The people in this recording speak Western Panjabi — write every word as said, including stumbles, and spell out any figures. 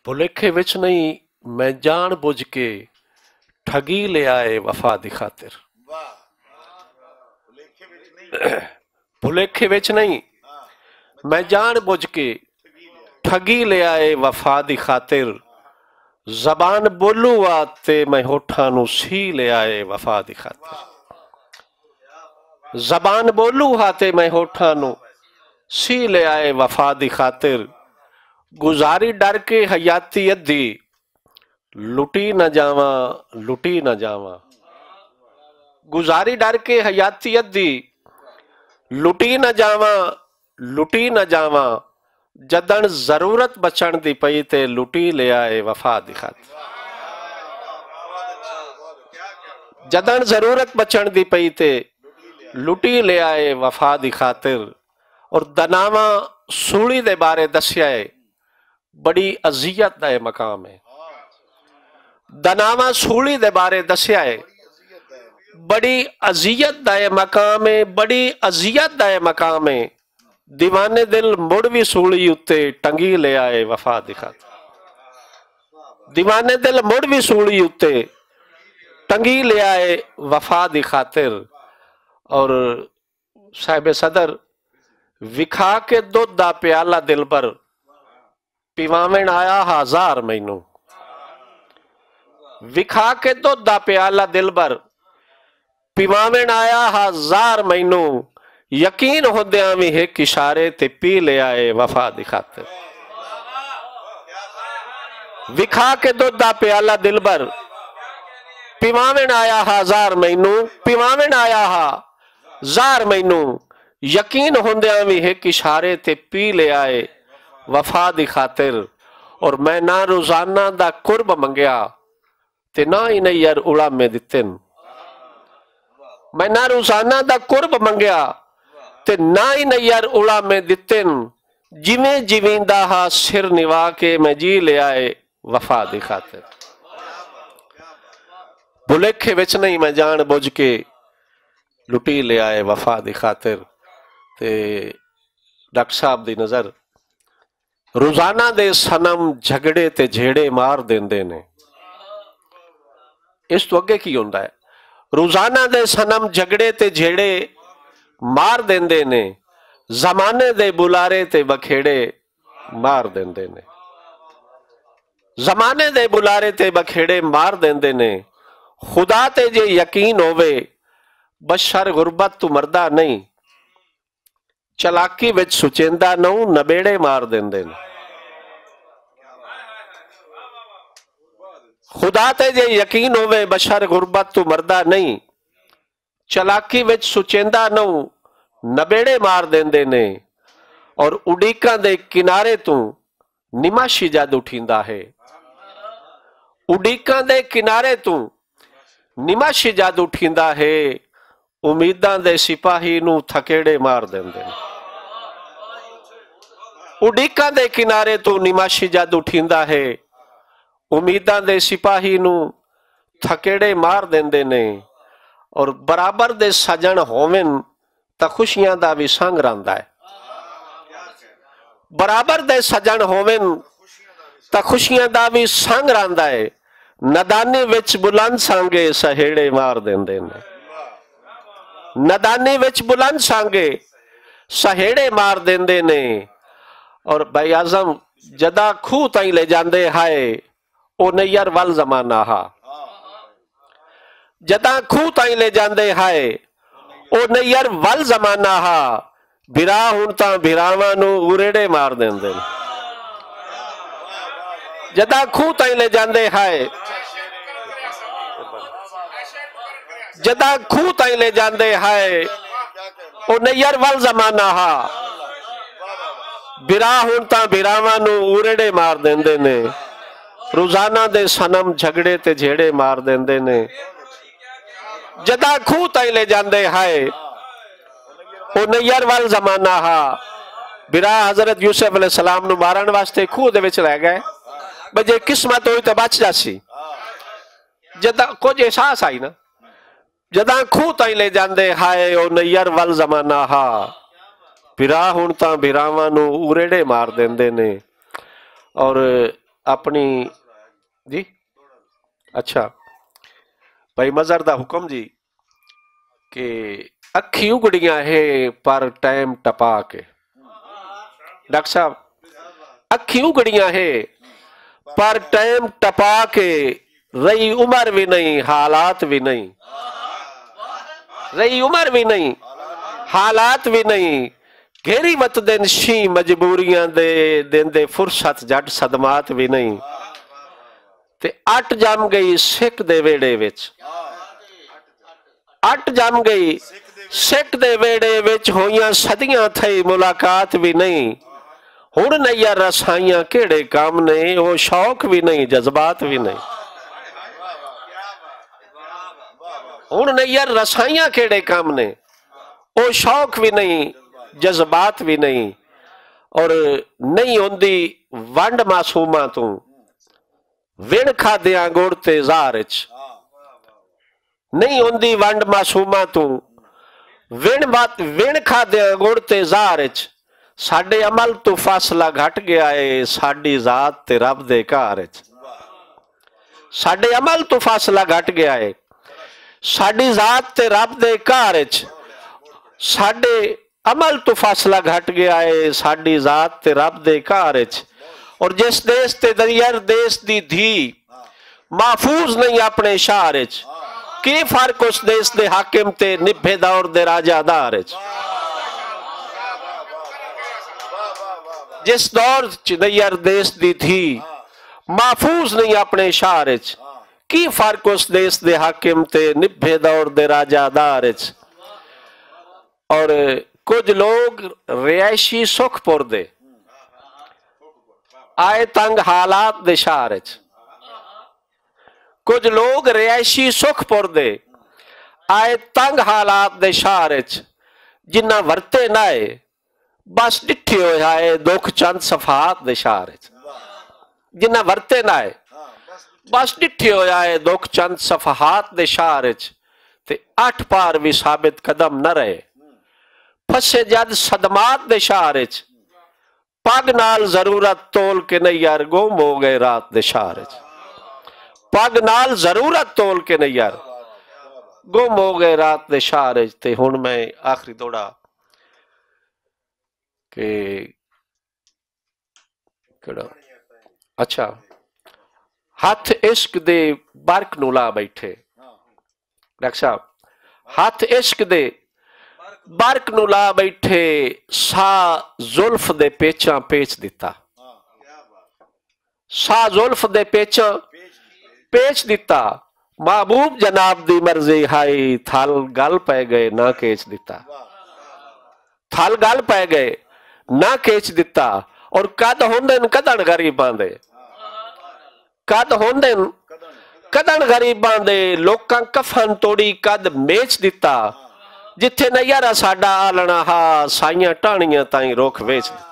بھلیکھے وچ نہیں، میں جان بوجھ کے ٹھگی لے آئے وفا دی خاطر۔ بھلیکھے وچ نہیں، میں جان بوجھ کے ٹھگی لے آئے وفا دی خاطر۔ زبان بولو آ تے میں ہوٹھاں نو سی لے آئے وفا دی خاطر۔ زبان بولو ہا تے میں ہوٹھاں نو سی لے آئے وفا دی خاطر۔ گزاری ڈر کے حیاتی ادھی، لٹی نہ جاواں، لٹی نہ جاواں۔ گزاری ڈر کے حیاتی ادھی، لٹی نہ جاواں، لٹی نہ جاواں۔ جدن ضرورت بچن دی پئی تے لٹی لیا اے وفا دی خاطر۔ جدن ضرورت بچن دی پئی تے لٹی لیا اے وفا دی خاطر۔ اور دناواں سولی دے بارے دسیا اے، بڑی اذیت دا اے مقام اے۔ دناواں سولی دے بارے دسیا اے، بڑی اذیت دا اے مقام اے، بڑی اذیت دا اے مقام اے۔ دیوانے دل مڑ وی سولی اتے ٹنگی لے آئے وفا دی خاطر۔ دیوانے دل مڑ وی سولی اتے ٹنگی لے آئے وفا دی خاطر۔ اور صاحب صدر، وکھا کے دودھ دا پیالہ دلبر، پیواون آیا ہزار مینوں۔ وکھا کے دودھ دا پیالہ دلبر، پیواون آیا ہزار مینوں۔ یقین ہوندیاں وی ہک اشارے تے پی لیا اے وفا دی خاطر۔ وکھا کے دودھ دا پیالہ دلبر، پیواون آیا ہزار مینوں، پیواون آیا ہزار مینوں۔ یقین ہوندیاں وی ہک اشارے تے پی لیا اے وفا دی خاطر۔ اور میں نہ روزانہ دا قرب منگیا تے نہ ہی نیئر اڑامے دتن۔ میں نہ روزانہ دا قرب منگیا تے نہ ہی نیئر اڑامے دتن۔ جویں جیویندا ہا سر نوا کے میں جی لیا اے وفا دی خاطر۔ بھلیکھے وچ نہیں، میں جان بوجھ کے لٹی لیا اے وفا دی خاطر۔ تے ڈاکٹر صاحب دی نظر، روزانہ دے صنم جھگڑے تے جھیڑے مار دیندے نے۔ اس تو اگے کی ہوندا ہے؟ روزانہ دے صنم جھگڑے تے جھیڑے مار دیندے نے، زمانے دے بلارے تے بکھیڑے مار دیندے نے۔ زمانے دے بلارے تے بکھیڑے مار دیندے نے۔ خدا تے جے یقین ہووے، بشر غربت تو مردہ نہیں، چلاکی وچ سچیندا نوں نبیڑے مار دیندے نے۔ خدا تے جے یقین ہووے، بشر غربت تو مردہ نہیں، چلاکی وچ سچیندا نوں نبیڑے مار دیندے نے۔ اور اڈیکاں دے کنارے توں نماشی جد اٹھیندا ہے۔ اڈیکاں دے کنارے توں نماشی جد اٹھیندا ہے، امیداں دے سپاہی نوں تھکیڑے مار دیندے نے۔ اڈیکاں دے کنارے توں نماشی جد اٹھیندا ہے، امیداں دے سپاہی نوں تھکیڑے مار دیندے نے۔ اور برابر دے سجن ہوون تاں خوشیاں دا وی سنگ رہندا ہے۔ برابر دے سجن ہوون تاں خوشیاں دا وی سنگ رہندا ہے۔ ندانی وچ بلند سانگے سہیڑے مار دیندے نے۔ ندانی وچ بلند سانگے سہیڑے مار دیندے نے۔ اور بھائی اعظم، جداں کھوہ تائیں لے جاندے ہائے، او نیئر ول زمانہ ہا۔ جداں کھوہ تائیں لے جاندے ہائے، او نیئر ول زمانہ ہا۔ بھرا ہن تاں بھراواں نوں اریڑے مار دیندے نے۔ جداں کھوہ تائیں لے جاندے ہائے، جداں کھوہ تائیں لے جاندے ہائے، او نیئر ول زمانہ ہا۔ بھرا ہن تاں بھراواں نوں اریڑے مار دیندے نے۔ روزانہ دے صنم جھگڑے تے جھیڑے مار دیندے نے۔ جداں کھوہ تائیں لے جاندے ہائے، او نیئر ول زمانہ ہا۔ برا حضرت یوسف علیہ السلام نو مارن واسطے کھوہ دے وچ لے گئے، بھئی جے قسمت ہوئی تے بچ جاسی۔ جداں کچھ احساس آئی نا، جداں کھوہ تائیں لے جاندے ہائے، او نیئر ول زمانہ ہا۔ برا ہن تاں بھراواں نو اریڑے مار دیندے نے۔ اور اپنی، جی، اچھا، بھائی مظہر دا حکم جی کہ اکھی اگڑیاں ہے پر ٹائم ٹپا کے۔ ڈاکٹر صاحب، اکھی اگڑیاں ہے پر ٹائم ٹپا کے، رہی عمر بھی نہیں، حالات بھی نہیں، رہی عمر بھی نہیں، حالات بھی نہیں، گھیری وت دن شی مجبوریاں دے، دن دے فرصت جٹ صدمات بھی نہیں۔ تے اٹ جم گئی سکھ دے ویڑے وچ، اٹ جم گئی سکھ دے ویڑے وچ، ہوئیاں صدیاں تھئی ملاقات بھی نہیں۔ ہن نیا رسائیاں کیڑے کام نے، او شوق بھی نہیں، جذبات بھی نہیں۔ ہن نیا رسائیاں کیڑے کام نے، او شوق بھی نہیں، جذبات بھی نہیں۔ اور نہیں ہوندی ونڈ معصوماں توں، وین کھادیاں گڑ تے زہر اچ۔ نہیں ہوندی ونڈ معصوماں توں، وین وت-، وین کھادیاں گڑ تے زہر اچ۔ ساڈے عمل تو فاصلہ گھٹ گیا ہے، ساڈی ذات تے رب دے گھر اچ۔ ساڈے عمل تو فاصلہ گھٹ گیا ہے، ساڈی ذات تے رب دے گھر اچ۔ ساڈے عمل تو فاصلہ گھٹ گیا ہے، ساڈی ذات تے رب دے گھر اچ۔ اور جس دیس تے دریار دیس دی دھی محفوظ نہیں اپنے شہر اچ، کی فرق اس دیس دے حاکم تے نبھے دور دے راجہ دار اچ؟ جس دور چ دریار دیس دی دھی محفوظ نہیں اپنے شہر اچ، کی فرق اس دیس دے حاکم تے نبھے دور دے راجہ دار اچ؟ اور کچھ لوگ رہائشی سکھ پور دے آئے تنگ حالات دے شہر اچ۔ کچھ لوگ رہائشی سکھ پور دے آئے تنگ حالات دے شہر اچ، جنہ ورتے نہ آئے، بس ڈٹھے ہوئے آئے دکھ چند صفحات دے شہر اچ۔ جنہ ورتے نہ آئے، بس ڈٹھے ہوئے آئے دکھ چند صفحات دے شہر اچ، تے اٹھ پار بھی ثابت قدم نہ رہے۔ پھسے جد صدمات دے شہر اچ، پگ نال ضرورت تول کے نہیں یار، گم ہو گئے رات دے شہر اچ۔ پگ نال ضرورت تول کے نہیں یار، گم ہو گئے رات دے شہر اچ۔ تے ہن میں آخری دوڑا کہ کڑا، اچھا، ہاتھ عشق دے برق نو لا بیٹھے۔ ڈاکٹر صاحب، ہاتھ عشق دے برق نو لا بیٹھے، سا زلف دے پیچاں پیچ دتا۔ سا زلف دے پیچاں پیچ دتا۔ محبوب جناب دی مرضی ہائی، تھل گل پے گئے نہ کیچ دتا۔ تھل گل پے گئے نہ کیچ دتا۔ اور قد ہوندے نے کدن غریباں دے، قد ہوندے نے کدن غریباں دے، لوکاں کفن توڑی قد میچ دتا۔ جتھے نہ یارا ساڈا آلنا ہا، سائیاں ٹانیاں تائیں رخ ویچ دتا۔